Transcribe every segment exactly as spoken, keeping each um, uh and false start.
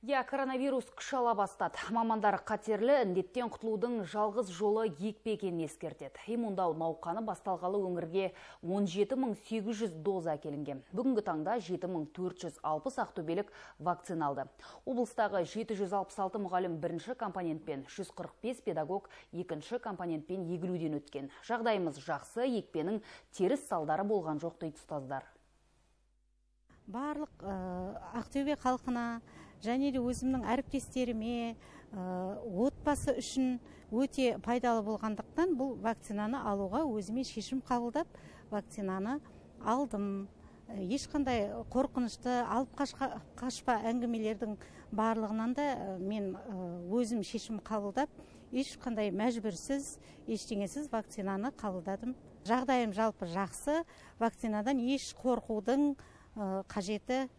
Я, коронавирус күш ала бастады. Мамандар қатерлі індеттен құтылудың жалғыз жолы екпе екенін ескертеді. Иммундау науқаны басталғалы өңірге он жеті мың сегіз жүз доза әкелінген. Бүгінгі таңда жеті мың төрт жүз алпыс ақтөбелік вакцина алды. Облыстағы жеті жүз алпыс алты мұғалім бірінші компонентпен, жүз қырық бес педагог екінші компонентпен егілуден өткен. Жағдайымыз жақсы, екпенің теріс салдары болған жоқ дейді ұстаздар. Барлық Ақтөбе халқына және де өзімнің әріптестеріме, отбасы үшін өте пайдалы болғандықтан бұл вакцинаны алуға өзіме шешім қабылдап, вакцинаны алдым. Ешқандай қорқынышты, алып қашпа әңгімелердің барлығынан да мен өзім шешім қабылдап, ешқандай мәжбүрсіз, ештеңесіз вакцинаны қабылдадым. Жағдайым жалпы жақсы, вакцинадан еш қорқудың қажеті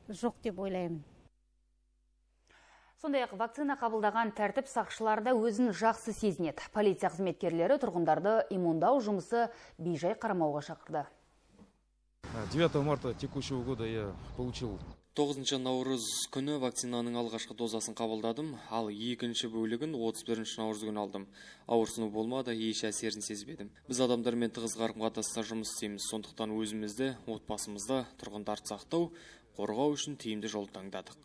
жоқ деп ойлаймын. Сондай-ақ вакцина қабылдаған тәртіп сақшыларда өзін жақсы сезінеді. Полиция қызметкерлері тұрғындарды иммундау жұмысы бейжай қарамауға шақырды. девятого марта текущего года я получил тоғызыншы наурыз күні вакцинаның алғашқы дозасын қабылдадым, ал екінші бөлігін отыз бірінші наурыз күні алдым. Ауырсыну болмады, еш әсерін сезбедім. Біз адамдармен тығыз қарым-қатынаста жұмыс істейміз, сондықтан өзімізді, отбасымызды, тұрғындарды сақтау, қорғау үшін тиімді жол таңдадық.